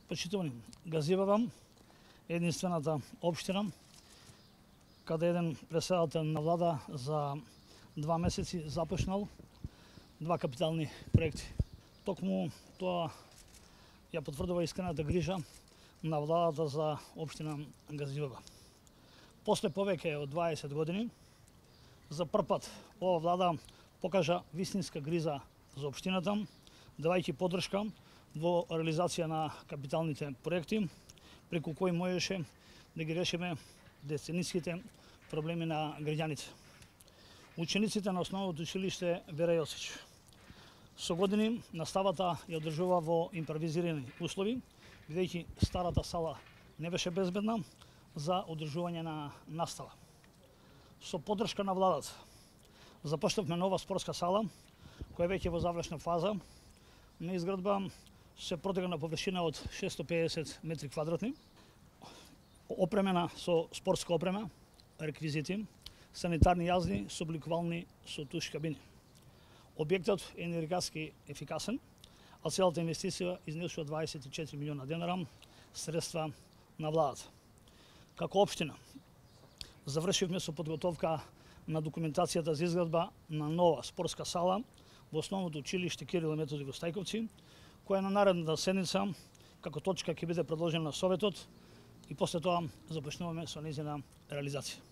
Почитувани, Газивава е единствената општина каде еден претседател на влада за 2 месеци започнал 2 капитални проекти. Токму тоа ја потврдува искрената грижа на владата за општина Газивава. После повеќе од 20 години, за прв пат ова влада покажа вистинска грижа за општината, давајќи поддршка во реализација на капиталните проекти, преку кои можеше да ги решиме децениските проблеми на граѓаните. Учениците на основното училиште Вера Јосич со години наставата ја одржува во импровизирани услови, бидејќи старата сала не беше безбедна за одржување на настава. Со поддршка на владата започнавме нова спортска сала, која веќе во завршна фаза на изградба, се протега на површина од 650 метри квадратни, опремена со спортска опрема, реквизити, санитарни јазди со обликувални со туш кабини. Објектот е енергетски ефикасен, а целата инвестиција изнесува 24 милиона денара средства на владата. Како општина завршивме со подготовка на документацијата за изградба на нова спортска сала во основното училиште Кирил и Методи во Стајковци, која на наредната седница како точка ќе биде предложена на Советот и после тоа започнуваме со нејзина реализација.